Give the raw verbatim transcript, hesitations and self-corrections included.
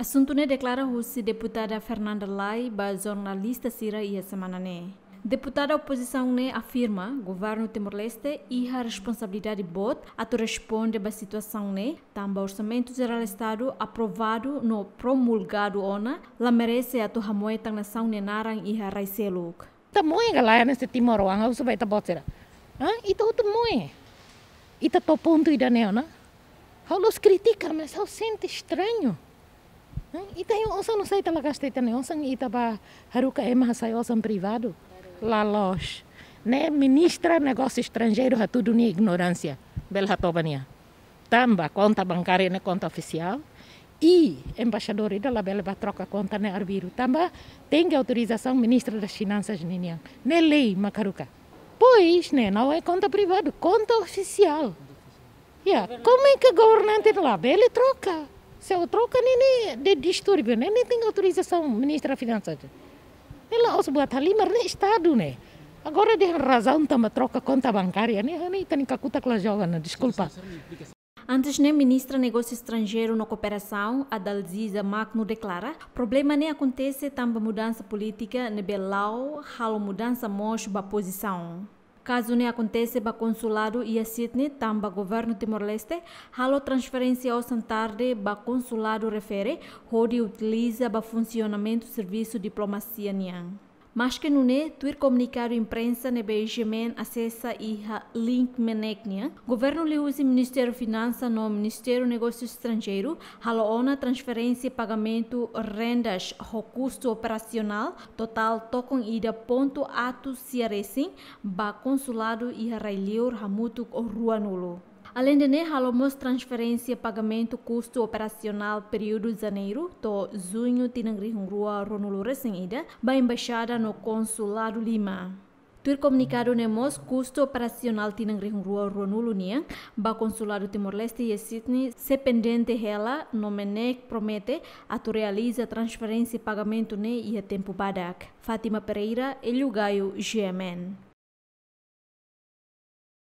Asuntu ne'e deklara husi deputada Fernanda Lay ba jornalista sira iha semana ne'e. Deputada opozisaun ne'e afirma governu Timor-Leste iha responsabilidade boot atu responde ba situasaun ne'e, tanba Orsamentu Jerál Estadu aprovadu no promulgadu ona la merese atu hamoe tan nasaun nia naran iha rai seluk. Ita moe ka lae hanesan timoroan, ha'u husu ba ita-boot sira. Hã? Ita hotu moe. Ita to'o pontu ida-ne'e ona. Ha'u la'ós kritika, mas ha'u sente estranho. Hã? Ita-nia osan nusá ita la gasta ita-nia osan, ita bá haruka ema hasai osan privadu. La loos. Ne'e ministra negósiu estranjeiru hatudu nia ignoránsia. Bele hato'o ba nia. Tanba konta bankária ne'e konta ofisiál. I embaixadór ida labele bá troka konta ne'e arbiru. Tanba tenke autorizasaun ministra das Finansas ninian. Ne'e lei mak haruka. Pois, ne'e la'ós konta privadu, konta ofisiál. Ya, como é que governante labele troka? Se troka ne'e, ne'e distúrbiu, ne'e, ne'e tenke autorizasaun ministra Finansas. Ne'e la'ós buat halimar, ne'e Estadu ne'e. Agora dehan razaun tanba troka konta bankária ne'e, ne'e ita-nia kakutak la joga ona, deskulpa. Antes ne'e, ministra Negósiu Estranjeiru no Kooperasaun, Adalziza Magno deklara, problema ne'e akontese tanba mudansa polítika ne'ebé la'o halo mudansa mós ba pozisaun. Kazu ne'e akontese ba konsuladu iha Sydney, tanba governu Timor-Leste halo transferénsia osan tarde ba konsuladu refere, hodi utiliza ba funsionamentu servisu diplomasia nian. Maske nune'e, tuir komunikadu imprensa ne'ebé GMN asesa iha link MNEK nian, governu liuhusi Ministériu Finansa no Ministériu Negósiu Estranjeiru halo ona transferénsia pagamentu rendas ho kustu operasionál totál tokon ida pontu atus sia resin ba konsuladu iha rai-liur hamutuk ruanulu. Aleinde ne'e, halo mós transferénsia pagamentu kustu operasionál períodu janeiru to'o juñu tinan rihun rua ruanulu resin ida ba embaixada no konsuladu lima. Tuir komunikadu ne'e mós, kustu operasionál tinan rihun rua ruanulu nian ba konsuladu Timor-Leste iha Sydney sei pendente hela, no MNEK promete atu realiza transferénsia pagamentu ne'e iha tempu badak. Fátima Pereira, Hélio Gaio, GMN.